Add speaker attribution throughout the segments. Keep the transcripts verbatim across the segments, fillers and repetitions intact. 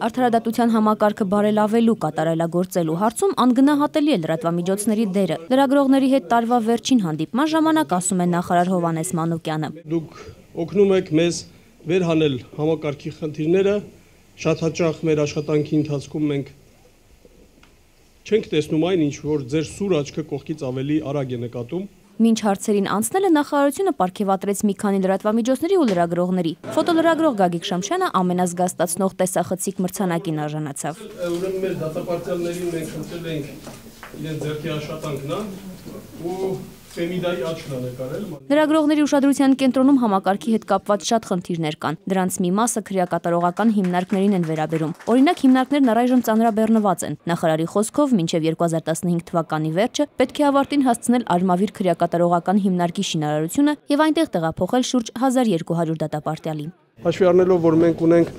Speaker 1: Արդարադատության համակարգը բարելավելու, կատարելագործելու հարցում անգնահատելի է լրատվամիջոցների դերը։ Լրագրողների հետ տարվա վերջին հանդիպման ժամանակ ասում է նախարար Հովհաննես Մանուկյանը։
Speaker 2: Դուք օգնում եք մեզ վերհանել համակարգի խնդիրները, շատ հաճախ մեր աշխատանքի ընթացքում մենք չենք տեսնում այն, ինչ որ ձեր սուր աչքը կողքից ավելի արագ է նկատում։
Speaker 1: Մինչ հարցերին անցնելը նախարարությունը պարգևատրեց մի քանի լրատվամիջոցների ու լրագրողների։ Ֆոտոլրագրող Գագիկ Շամշյանը ամենազգաստացնող տեսախցիկ մրցանակին արժանացավ։
Speaker 2: Ուրեմն մեր դատապարտյալներին մենք խնդրել ենք իրենց ձեռքի աշխատանքն ու Ֆեմիդայի աչքն է նկարել։
Speaker 1: Լրագրողների ուշադրության կենտրոնում համակարգի հետ կապված շատ խնդիրներ կան։ Դրանց մի մասը քրեակատարողական հիմնարկներին են վերաբերում։ Օրինակ, հիմնարկներն առայժմ ծանրաբեռնված են։ Նախարարի խոսքով մինչև երկու հազար տասնհինգ թվականի վերջը պետք է ավարտին հասցնել Արմավիր քրեակատարողական հիմնարկի շինարարությունը եւ այնտեղ տեղափոխել շուրջ հազար երկու հարյուր դատապարտյալի։
Speaker 2: Հաշվի առնելով, որ մենք ունենք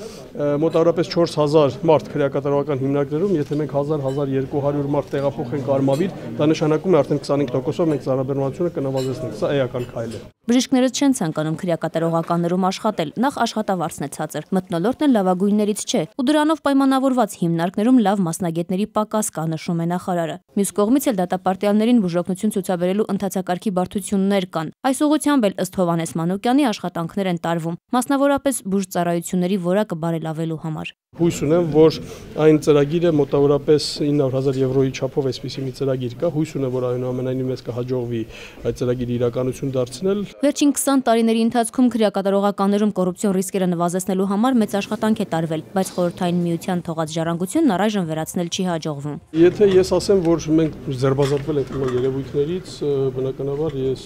Speaker 2: մոտավորապես չորս հազար մարդ քրեակատարողական հիմնարկներում, եթե մենք հազար - հազար երկու հարյուր մարդ տեղափոխենք Արմավիր, դա նշանակում է արդեն քսանհինգ տոկոսով մենք ծանրաբեռնվածությունը կնվազեցնենք։ Սա էական քայլ է։
Speaker 1: Բժիշկները չեն ցանկանում քրեակատարողականներում աշխատել, նախ աշխատավարձն է ցածր, մթնոլորտն էլ լավագույններից չէ, ու դրանով պայմանավորված հիմնարկներում լավ մասնագետների պակաս կա, նշում է նախարարը։ Մյուս կողմից էլ դատապարտյալներին բուժօգնություն ցուցաբերելու ընթացակարգի բարդություններ կան։ Այս ուղղությամբ էլ ըստ Հովհաննես Մանուկյանի աշխատանքներ են տարվում, մասնավորապես բուժծառայությունների որակը բարելավելու համար։
Speaker 2: Հույս ունեմ, որ այն ծրագիրը մոտավորապես ինը հարյուր հազար եվրոյի չափով այսպիսի մի ծրագիր կա, հույս ունեմ, որ այնուամենայնիվ մեզ կհաջողվի այդ ծրագիրը իրականություն դարձնել։
Speaker 1: Վերջին քսան տարիների ընթացքում քրեակատարողականներում կոռուպցիոն ռիսկերը նվազեցնելու համար մեծ աշխատանք է տարվել, բայց Խորհրդային Միության թողած ժառանգությունն առայժմ վերացնել չի հաջողվում։
Speaker 2: Եթե ես ասեմ, որ մենք ձերբազատվել ենք նոր երևույթներից, բնականաբար ես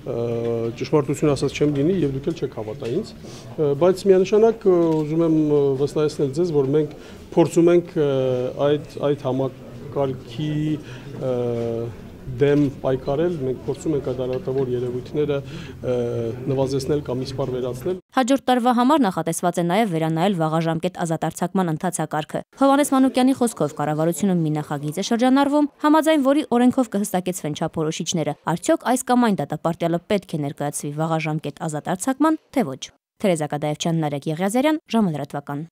Speaker 2: ճշմարտություն ասած չեմ լինի եւ դուք էլ չեք հավատա ինձ, բայց միանշանակ ուզում եմ վստահեցնել ձեզ, որ մենք փորձում ենք այդ այդ համակարգի դեմ պայքարել, մենք փորձում ենք այդ արատավոր երևույթները նվազեցնել կամ իսպառ վերացնել։
Speaker 1: Հաջորդ տարվա համար նախատեսված է նաև վերանայել վաղաժամկետ ազատարձակման ընթացակարգը։ Հովհաննես Մանուկյանի խոսքով կառավարությունում մի նախագիծ է շրջանառվում, համաձայն որի օրենքով կհստակեցվեն չափորոշիչները։ Արդյոք այս կամ այն դատապարտյալը պետք է ներկայացվի վաղաժամկետ ազատարձակման, թե ոչ։ Թերեզա Կադաևչյան, Նարեկ Եղիազարյան, ժամը լրատվական։